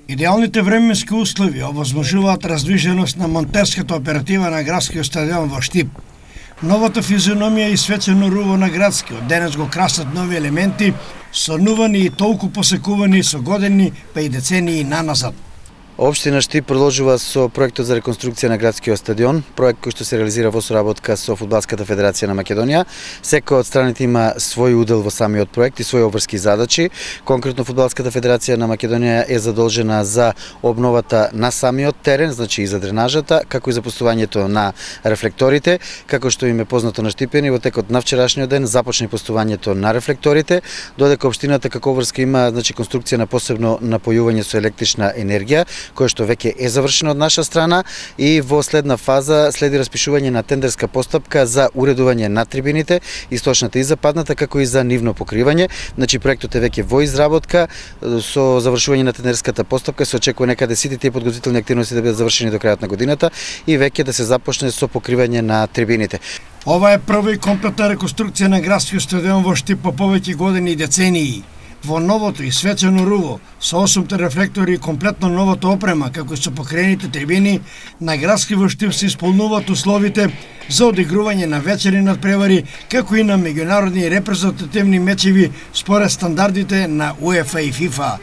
Идеалните временски услови овозможуваат раздвиженост на монтерската оператива на градскиот стадион во Штип. Новата физиономија и свечено руво на градскиот денес го красат нови елементи, сонувани и толку посекувани со години, па и децении наназад. Општина Штип продолжува со проектот за реконструкција на градскиот стадион, проект кој што се реализира во соработка со Фудбалската федерација на Македонија. Секој од страните има свој удел во самиот проект и своји обврски задачи. Конкретно Фудбалската федерација на Македонија е задолжена за обновата на самиот терен, значи и за дренажата, како и за постувањето на рефлекторите, како што им е познато на Штипени. Во текот на вчерашниот ден започне постувањето на рефлекторите, додека општината како обврска има значи конструкција на посебно напојување со електрична енергија, кој што веќе е завршено од наша страна, и во следна фаза следи распишување на тендерска постапка за уредување на трибините, источната и западната, како и за нивно покривање. Значи проектот е веќе во изработка, со завршување на тендерската постапка се очекува некаде сите тие подготвителни активности да бидат завршени до крајот на годината и веќе да се започне со покривање на трибините. Ова е прва и комплетна реконструкција на градскиот стадион во Штип по повеќе години и децении. Во новото и свечено руво, со 8 рефлектори и комплетно новата опрема, како и со покрените трибини, на градски во Штип се исполнуваат условите за одигрување на вечерни надпревари, како и на меѓународни репрезентативни мечеви според стандардите на УЕФА и ФИФА.